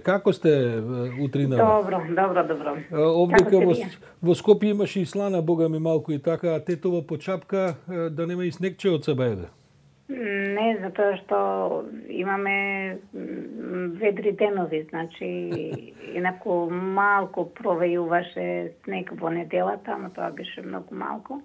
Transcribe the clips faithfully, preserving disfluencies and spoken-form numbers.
Како сте утринава? Добро, добро, добро. Овдека во, во Скопје имаше и слана, бога ми малку и така, а Тетово по чапка да нема и снегче од себе. Не, затоа што имаме ведри денови, значи инаку малку провејуваше снег во неделата, но тоа беше многу малку.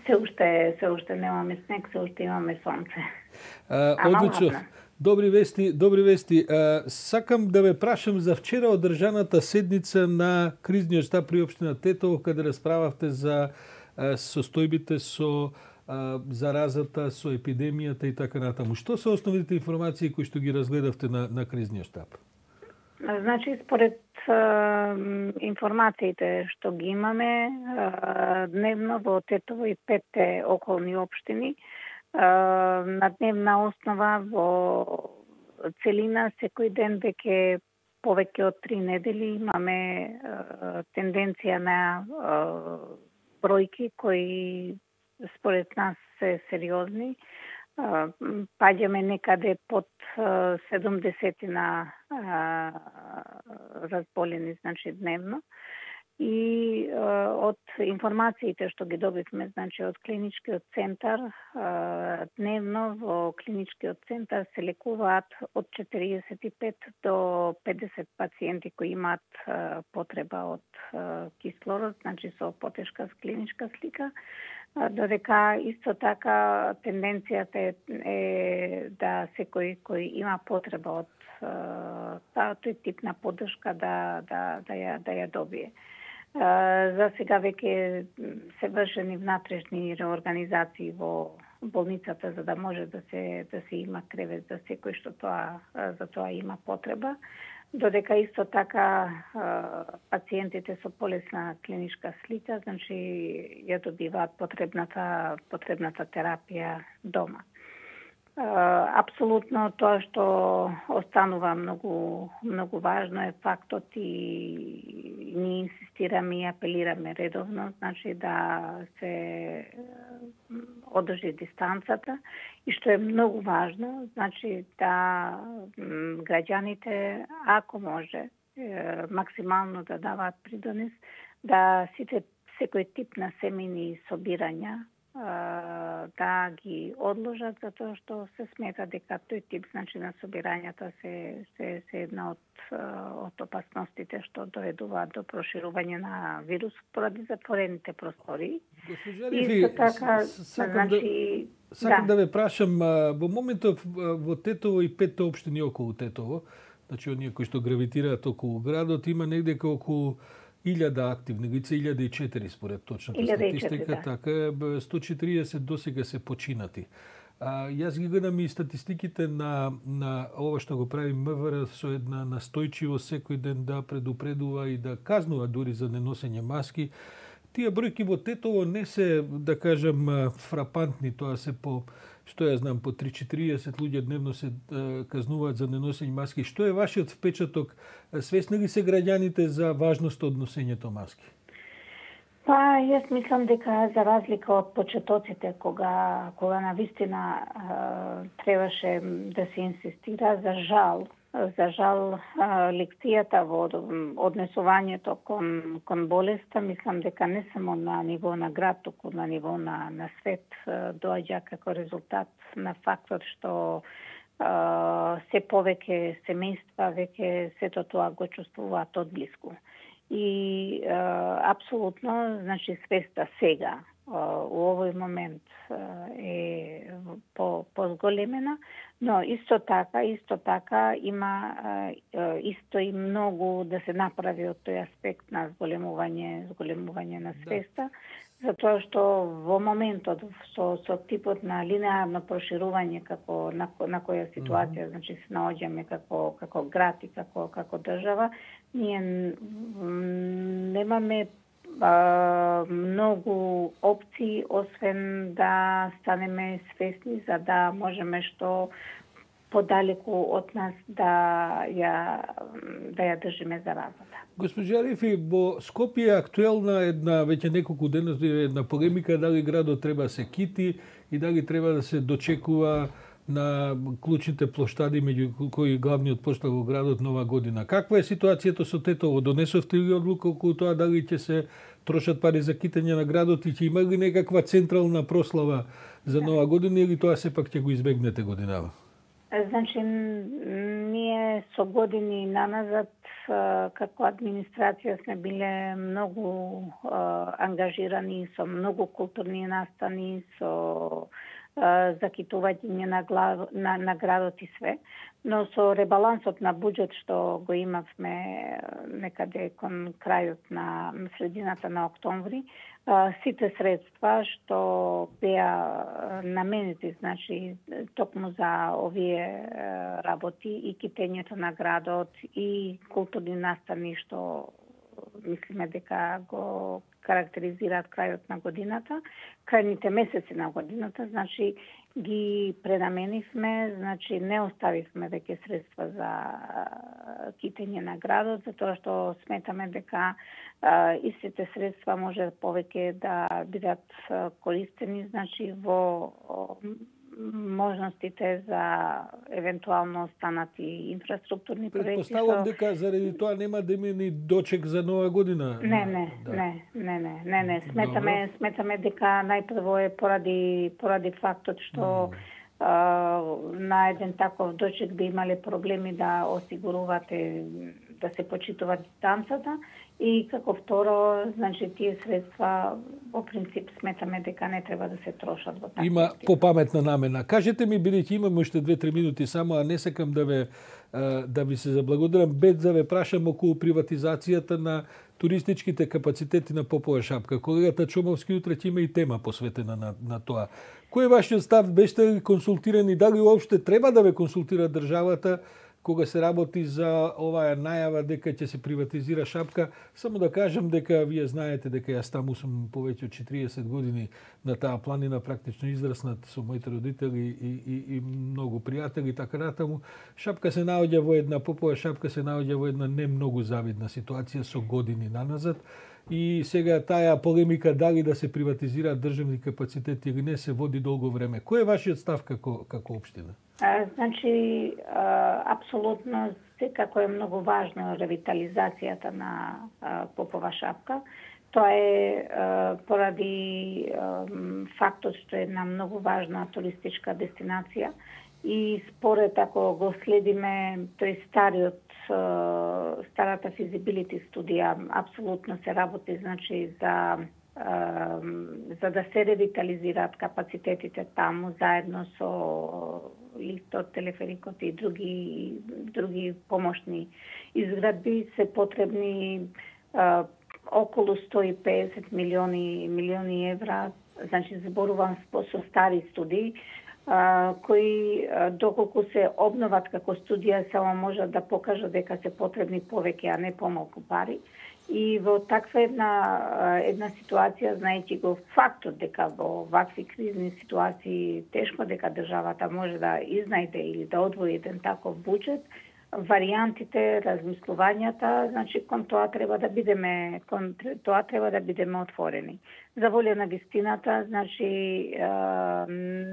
Се уште, се уште немаме снег, се уште имаме сонце. А, одлично. Добри вести, добри вести. А, сакам да ве прашам за вчера одржаната седница на кризниот штаб при општина Тетово, каде расправавте за а, состојбите со а, заразата, со епидемијата и така натаму. Што се основните информации кои што ги разгледавте на, на кризниот штаб? Значи, според а, информациите што ги имаме а, дневно во Тетово и петте околни општини, на дневна основа во целина секој ден веќе повеќе од три недели имаме а, тенденција на а, бројки кои според нас се сериозни. А, паѓаме некаде под седумдесет на а, разболени, значи дневно. И а, од информациите што ги добивме, значи од клиничкиот центар, а, дневно во клиничкиот центар се лекуваат од четириесет и пет до педесет пациенти кои имаат а, потреба од а, кислород, значи со потешка клиничка слика, а, додека исто така тенденцијата е, е да секој кој има потреба од а, тој тип на поддршка да да да ја да ја добие. За сега веќе се вршени внатрешни реорганизации во болницата за да може да се да се има кревет за секој што тоа за тоа има потреба, додека исто така пациентите со полесна клиничка слика, значи ја добиваат потребната потребната терапија дома. Апсолутно тоа што останува многу многу важно е фактот и ние инсистираме и апелираме редовно, значи да се одржи дистанцата и што е многу важно, значи да граѓаните ако може максимално да даваат придонес да сите секој тип на семејни собирања да ги одложат, затоа што се смета дека тој тип значи на собирањата се се се една од од опасностите што доведуваат до проширување на вирус поради затворените простори. Исто така, сакам значи да, сакам да. да ве прашам, во моментов во Тетово и петте општини околу Тетово, значи оние кои што гравитираат околу градот, има негде околу илјада активни лица, илјада и четири според точната статистика, да. Така сто четириесет досега се починати. А, јас ги гледам и статистиките на, на ова што го прави МВР со една настојчивост секој ден да предупредува и да казнува дури за неносење маски. Тие бројки во Тетово не се, да кажам, фрапантни, тоа се по што ја знам, по три четириесет луѓе дневно се е, казнуваат за неносење маски. Што е вашиот впечаток? Свесни ли се граѓаните за важноста од носењето маски? Па, јас мислам дека за разлика од почетоците, кога, кога навистина е, требаше да се инсистира, за жал, за жал лекцијата во однесувањето кон, кон болеста, мислам дека не само на ниво на град, туку на ниво на, на свет доаѓа како резултат на фактот што а, се повеќе семејства веќе сето тоа го чувствуваат од блиску. И а, апсолутно, значи свеста сега, у овој момент е по позголемена, но исто така, исто така има исто и многу да се направи од тој аспект на зголемување, зголемување на свеста, да. Затоа што во моментот со со типот на линеарно проширување како на, на која ситуација, mm-hmm. значи се наоѓаме како како град и како како држава, ние немаме Uh, многу опции, освен да станеме свесни за да можеме што подалеку од нас да ја да ја држиме заразата. Госпожа Арифи, во Скопје е актуелна една веќе неколку дена една полемика дали градот треба да се кити и дали треба да се дочекува на клучните плоштади меѓу кои главниот плоштад во градот Нова година. Каква е ситуацијата со Тетово? Донесовте ли одлука околу тоа дали ќе се трошат пари за китење на градот и ќе има ли некаква централна прослава за Нова година или тоа сепак ќе го избегнете годинава? Значи, ние со години наназад како администрација сме биле многу ангажирани со многу културни настани, со закитување на, глав, на, на градот и све, но со ребалансот на буџет што го имавме некаде кон крајот на средината на октомври, сите средства што беа наменети, значи токму за овие работи и китењето на градот и културни настани што мислиме дека го карактеризираат крајот на годината, крајните месеци на годината, значи ги пренаменивме, значи не оставивме веќе средства за китење на градот, затоа што сметаме дека а, истите средства може повеќе да бидат користени, значи во можностите за евентуално останати инфраструктурни проекти. Предпоставувам што... дека заради тоа нема да има ни дочек за Нова година. Не, не, да. не, не, не, не, не. Сметаме, Добро. сметаме дека најпрво е поради поради фактот што mm. а, на еден таков дочек би имале проблеми да осигурувате да се почитува дистанцата и како второ, значи тие средства во принцип сметаме дека не треба да се трошат во такви. Има попаметна намена. Кажете ми, бидејќи имаме уште две-три минути само, а не сакам да ве да ви се заблагодарам, без да ве прашам околу приватизацијата на туристичките капацитети на Попова шапка. Колегата Чомовски утре ќе има и тема посветена на, на тоа. Кој е вашиот став? Беште ли консултирани? Дали уопште треба да ве консултира државата кога се работи за оваа најава дека ќе се приватизира шапка? Само да кажам дека вие знаете дека јас таму сум повеќе од четириесет години на таа планина, практично израснат со моите родители и, и, и многу пријатели, така натаму. Шапка се наоѓа во една, Попова шапка се наоѓа во една не многу завидна ситуација со години наназад. И сега таа полемика дали да се приватизираат државни капацитети или не се води долго време. Кој е вашиот став како, како општина? А, значи, а, апсолутно секако е многу важно ревитализацијата на а, Попова шапка. Тоа е а, поради а, фактот што е една многу важна туристичка дестинација и според ако го следиме тој стариот старата feasibility студија, апсолутно се работи, значи за за да се ревитализираат капацитетите таму заедно со лифтот, телеферикот и други други помошни изградби се потребни а, околу сто и песет милиони милиони евра, значи зборувам со стари студии, Uh, кои uh, доколку се обноват како студија само можат да покажат дека се потребни повеќе, а не помалку пари. И во таква една uh, една ситуација, знаејќи го фактот дека во вакви кризни ситуации тешко дека државата може да изнајде или да одвои еден таков буџет, варијантите, размислувањата, значи кон тоа треба да бидеме кон тоа треба да бидеме отворени. За волја на вистината, значи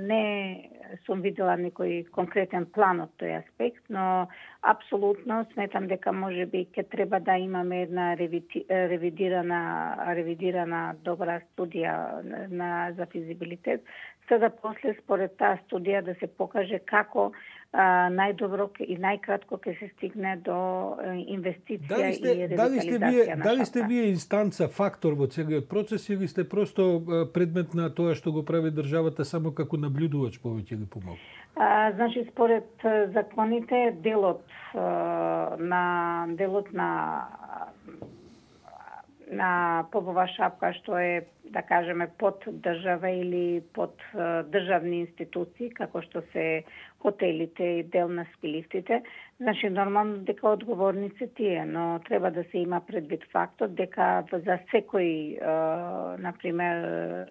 не сум видела некој конкретен план од тој аспект, но апсолутно сметам дека можеби ќе треба да имаме една ревидирана ревидирана добра студија на за физибилитет, за да после според таа студија да се покаже како а, најдобро и најкратко ќе се стигне до инвестиција дали сте, и дали сте вие, на дали сте вие инстанца, фактор во целиот процес или сте просто предмет на тоа што го прави државата само како наблюдувач повеќе или помалку? А, значи според законите делот а, на делот на на Попова шапка што е да кажеме под држава или под uh, државни институции како што се хотелите и дел на скилифтите, значи нормално дека одговорни се тие, но треба да се има предвид фактот дека за секој uh, например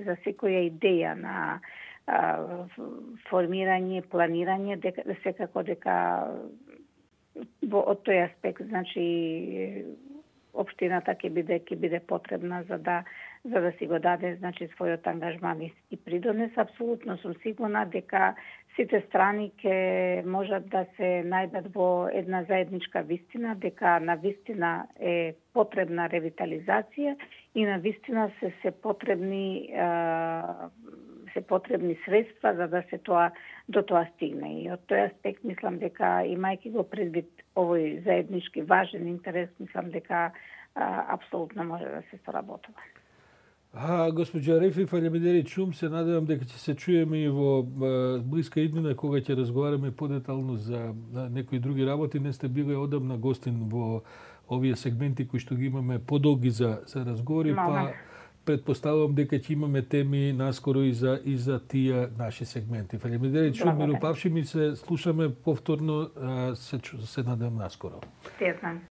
за секоја идеја на uh, формирање, планирање, дека секако дека во од тој аспект, значи општината ќе биде ќе биде потребна за да за да си го даде значи својот ангажман и придонес. Апсолутно сум сигурна дека сите страни ќе можат да се најдат во една заедничка вистина, дека на вистина е потребна ревитализација и на вистина се се потребни се потребни средства за да се тоа до тоа стигне. И од тој аспект мислам дека имајќи го предвид овој заеднички важен интерес, мислам дека а, апсолутно може да се соработува. А, госпоđa Рефи Фалемидери Чум, се надевам дека ќе се чуеме и во а, блиска иднина кога ќе разговараме подетално за а, некои други работи. Не сте били одамна гостин во овие сегменти кои што ги имаме подолги за за разговори, Мама. па предпоставувам дека ќе имаме теми наскоро и за и за тие наши сегменти. Фалемидери Чум, Миропавши, ми се слушаме повторно, а, се се надевам наскоро. Се знам.